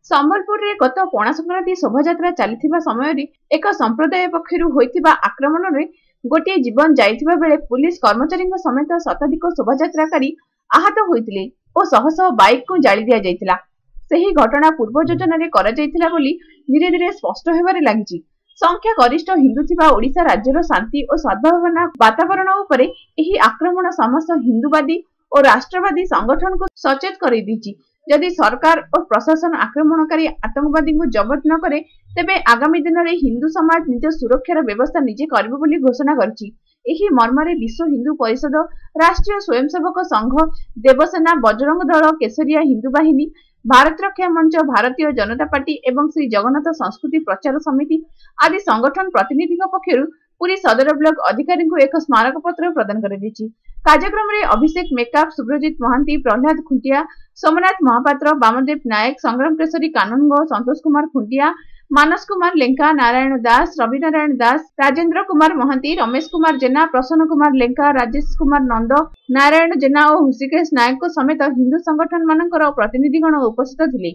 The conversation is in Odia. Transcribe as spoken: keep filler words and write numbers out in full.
ସମ୍ବଲପୁରରେ ଗତ ପଣା ସଂକ୍ରାନ୍ତି ଶୋଭାଯାତ୍ରା ଚାଲିଥିବା ସମୟରେ ଏକ ସମ୍ପ୍ରଦାୟ ପକ୍ଷରୁ ହୋଇଥିବା ଆକ୍ରମଣରେ ଗୋଟିଏ ଜୀବନ ଯାଇଥିବା ବେଳେ ପୁଲିସ କର୍ମଚାରୀଙ୍କ ସମେତ ଶତାଧିକ ଶୋଭାଯାତ୍ରାକାରୀ ଆହତ ହୋଇଥିଲେ ଓ ଶହ ଶହ ବାଇକକୁ ଜାଳି ଦିଆଯାଇଥିଲା। ସେହି ଘଟଣା ପୂର୍ବ ଯୋଜନାରେ କରାଯାଇଥିଲା ବୋଲି ଧୀରେ ଧୀରେ ସ୍ପଷ୍ଟ ହେବାରେ ଲାଗିଛି। ସଂଖ୍ୟା ଗରିଷ୍ଠ ହିନ୍ଦୁ ଥିବା ଓଡ଼ିଶା ରାଜ୍ୟର ଶାନ୍ତି ଓ ସଦ୍ଭାବନା ବାତାବରଣ ଉପରେ ଏହି ଆକ୍ରମଣ ସମସ୍ତ ହିନ୍ଦୁବାଦୀ ଓ ରାଷ୍ଟ୍ରବାଦୀ ସଂଗଠନକୁ ସଚେତ କରାଇ ଦେଇଛି। ଯଦି ସରକାର ଓ ପ୍ରଶାସନ ଆକ୍ରମଣକାରୀ ଆତଙ୍କବାଦୀଙ୍କୁ ଜବତ ନ କରେ, ତେବେ ଆଗାମୀ ଦିନରେ ହିନ୍ଦୁ ସମାଜ ନିଜ ସୁରକ୍ଷାର ବ୍ୟବସ୍ଥା ନିଜେ କରିବ ବୋଲି ଘୋଷଣା କରିଛି। ଏହି ମର୍ମରେ ବିଶ୍ୱ ହିନ୍ଦୁ ପରିଷଦ, ରାଷ୍ଟ୍ରୀୟ ସ୍ୱୟଂସେବକ ସଂଘ, ଦେବସେନା, ବଜରଙ୍ଗ ଦଳ, କେଶରିଆ ହିନ୍ଦୁ ବାହିନୀ, ଭାରତ ରକ୍ଷା ମଞ୍ଚ, ଭାରତୀୟ ଜନତା ପାର୍ଟି ଏବଂ ଶ୍ରୀ ଜଗନ୍ନାଥ ସଂସ୍କୃତି ପ୍ରଚାର ସମିତି ଆଦି ସଂଗଠନ ପ୍ରତିନିଧିଙ୍କ ପକ୍ଷରୁ ପୁରୀ ସଦର ବ୍ଲକ ଅଧିକାରୀଙ୍କୁ ଏକ ସ୍ମାରକପତ୍ର ପ୍ରଦାନ କରାଯାଇଛି। କାର୍ଯ୍ୟକ୍ରମରେ ଅଭିଷେକ ମେକାପ, ସୁବ୍ରଜିତ ମହାନ୍ତି, ପ୍ରହ୍ଲାଦ ଖୁଣ୍ଟିଆ, ସୋମନାଥ ମହାପାତ୍ର, ବାମଦେବ ନାୟକ, ସଂଗ୍ରାମ କେଶରୀ କାନୁନଗୋ, ସନ୍ତୋଷ କୁମାର ଖୁଣ୍ଟିଆ, ମାନସ କୁମାର ଲେଙ୍କା, ନାରାୟଣ ଦାସ, ରବିନାରାୟଣ ଦାସ, ରାଜେନ୍ଦ୍ର କୁମାର ମହାନ୍ତି, ରମେଶ କୁମାର ଜେନା, ପ୍ରସନ୍ନ କୁମାର ଲେଙ୍କା, ରାଜେଶ କୁମାର ନନ୍ଦ, ନାରାୟଣ ଜେନା ଓ ହୃଷିକେଶ ନାୟକଙ୍କ ସମେତ ହିନ୍ଦୁ ସଂଗଠନମାନଙ୍କର ପ୍ରତିନିଧିଗଣ ଉପସ୍ଥିତ ଥିଲେ।